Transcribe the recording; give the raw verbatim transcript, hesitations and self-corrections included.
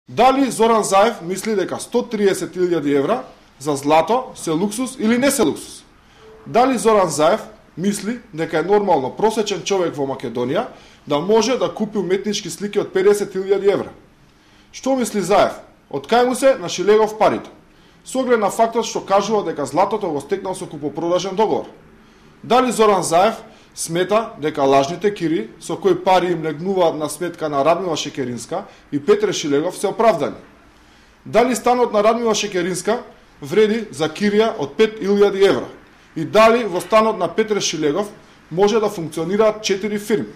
Дали Зоран Заев мисли дека сто триесет илјади евра за злато се луксус или не се луксус? Дали Зоран Заев мисли дека е нормално просечен човек во Македонија да може да купи уметнички слики од педесет илјади евра? Што мисли Заев? Од кај му се нашилегов парите? Со оглед на фактот што кажува дека златото го стекнал со купопродажен договор. Дали Зоран Заев смета дека лажните кири со кои пари им легнуваат на сметка на Радмила Шекеринска и Петре Шилегов се оправдани? Дали станот на Радмила Шекеринска вреди за кирија од пет илјади евра? И дали во станот на Петре Шилегов може да функционираат четири фирми?